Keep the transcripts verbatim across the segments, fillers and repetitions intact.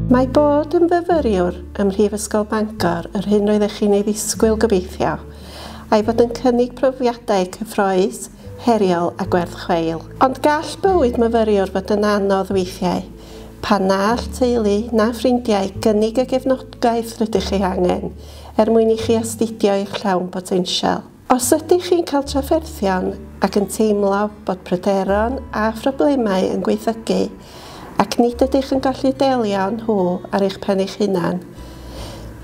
Mae bod yn fyfyriwr ym Mhrifysgol Bangor yr hyn roeddech chi'n ei ddisgwyl gobeithio, a'i fod yn cynnig profiadau cyffrous, heriol a gwerth chweil. Ond gall bywyd myfyriwr fod yn anodd weithiau, pan na all teulu na ffrindiau gynnig y gefnogaeth rydych chi angen er mwyn i chi astudio eich llawn potensial. Os ydych chi'n cael trafferthion ac yn teimlo bod pryderon a phroblemau yn gwaethygu, ac nid ydych yn gallu delio â nhw ar eich pen eich hunan,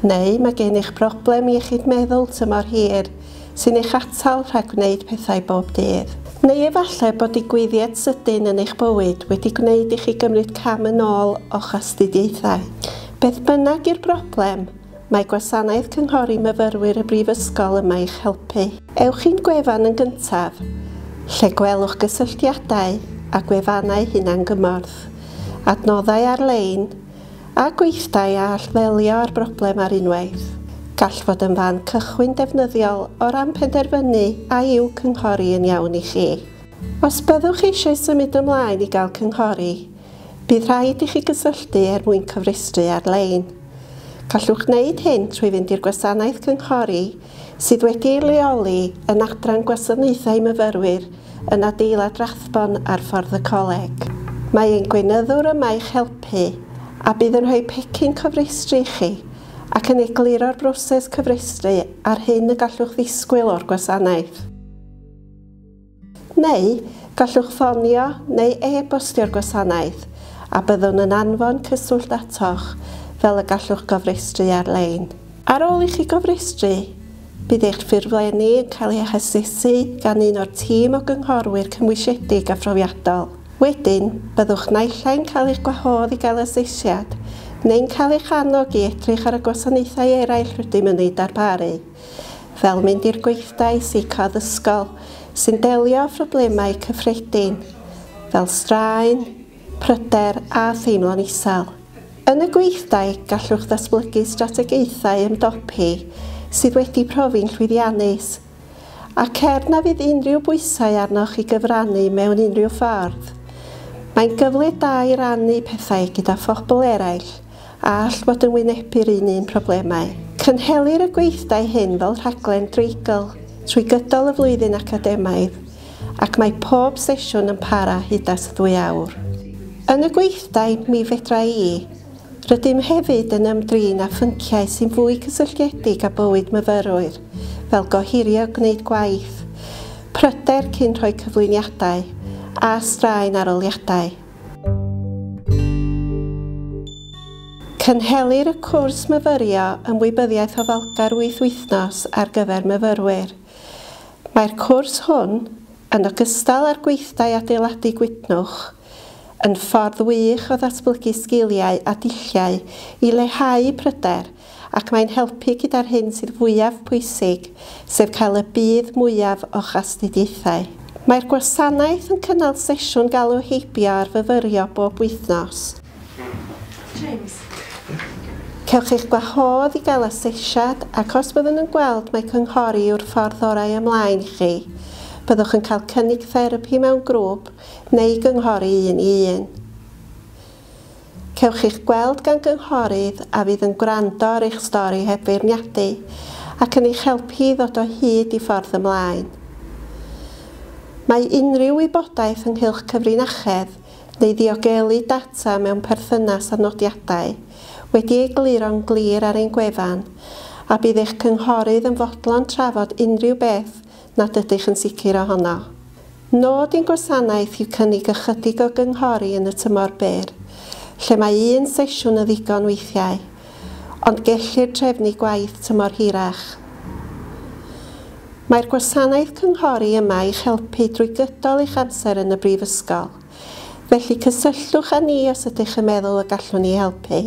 neu mae gennych broblem iechyd meddwl tymor hir sy'n eich atal rhag gwneud pethau bob dydd. Neu efallai bod digwyddiad sydyn yn eich bywyd wedi gwneud i chi gymryd cam yn ôl o'ch astudiaethau. Beth bynnag yw'r broblem, mae gwasanaeth cynghori myfyrwyr y Brifysgol yma i'ch helpu. Ewch i'n gwefan yn gyntaf, lle gwelwch gysylltiadau a gwefannau hunangymorth, adnoddau ar-lein a gweithdai a all ddelio â'r broblem ar unwaith. Gall fod yn fan cychwyn defnyddiol o ran penderfynu a yw cynghori yn iawn i chi. Os byddwch eisiau symud ymlaen i gael cynghori, bydd rhaid i chi gysylltu er mwyn cyfrestru ar-lein. Gallwch wneud hyn trwy fynd i'r gwasanaeth cynghori sydd wedi ei leoli yn adran gwasanaethau myfyrwyr yn adeilad Rathbone ar ffordd y coleg. Mae ein gweinyddwr yma i'ch helpu a bydd yn rhoi pecyn cofrestru i chi ac yn egluro'r broses cyfrestru a'r hyn y gallwch ddisgwyl o'r gwasanaeth. Neu gallwch ffonio neu e-bostio'r gwasanaeth a byddwn yn anfon cyswllt atoch fel y gallwch gofrestru ar-lein. Ar ôl i chi gofrestru, bydd eich ffurflenni yn cael eu hasesu gan un o'r tîm o gynghorwyr cymwysiedig a phrofiadol. Wedyn, byddwch naill ai'n cael eich gwahodd i gael asesiad, neu'n cael eich annog i edrych ar y gwasanaethau eraill rydym yn eu darparu, fel mynd i'r gweithdai seicoaddysgol sy'n delio â phroblemau cyffredin, fel straen, pryder a theimlo'n isel. Yn y gweithdai, gallwch ddatblygu strategaethau ymdopi sydd wedi profi'n llwyddiannus, ac er na fydd unrhyw bwysau arnoch i gyfrannu mewn unrhyw ffordd, mae'n gyfle da i rannu pethau gyda phobl eraill a all fod yn wynebu'r un un problemau. Cynhelir y gweithdai hyn fel rhaglen dreigl trwy gydol y flwyddyn academaidd, ac mae pob sesiwn yn para hyd at ddwy awr. Yn y gweithdai Mi Fedra I, rydym hefyd yn ymdrin â phynciau sy'n fwy cysylltiedig â bywyd myfyrwyr, fel gohirio gwneud gwaith, pryder cyn rhoi cyflwyniadau, a straen arholiadau. Cynhelir y cwrs myfyrio ymwybyddiaeth ofalgar wyth wythnos ar gyfer myfyrwyr. Mae'r cwrs hwn, yn ogystal â'r gweithdai adeiladu gwytnwch, yn ffordd wych o ddatblygu sgiliau a dulliau i leihau pryder, ac mae'n helpu gyda'r hyn sydd fwyaf pwysig, sef cael y budd mwyaf o'ch astudiaethau. Mae'r gwasanaeth yn cynnal sesiwn galw heibio ar fyfyrio bob wythnos. James. Cewch eich gwahodd i gael asesiad, ac os byddwn yn gweld mai cynghori yw'r ffordd orau ymlaen i chi, byddwch yn cael cynnig therapi mewn grŵp neu gynghori un i un. Cewch eich gweld gan gynghorydd a fydd yn gwrando ar eich stori heb feirniadu ac yn eich helpu i ddod o hyd i ffordd ymlaen. Mae unrhyw wybodaeth ynghylch cyfrinachedd neu ddiogelu data mewn perthynas â nodiadau wedi egluro'n glir ar ein gwefan, a bydd eich cynghorydd yn fodlon trafod unrhyw beth nad ydych yn sicr ohono. Nod ein gwasanaeth yw cynnig ychydig o gynghori yn y tymor byr, lle mae un sesiwn yn ddigon weithiau, ond gellir trefnu gwaith tymor hirach. Mae'r gwasanaeth cynghori yma i'ch helpu drwy gydol eich amser yn y brifysgol, felly cysylltwch â ni os ydych yn meddwl y gallwn ni helpu.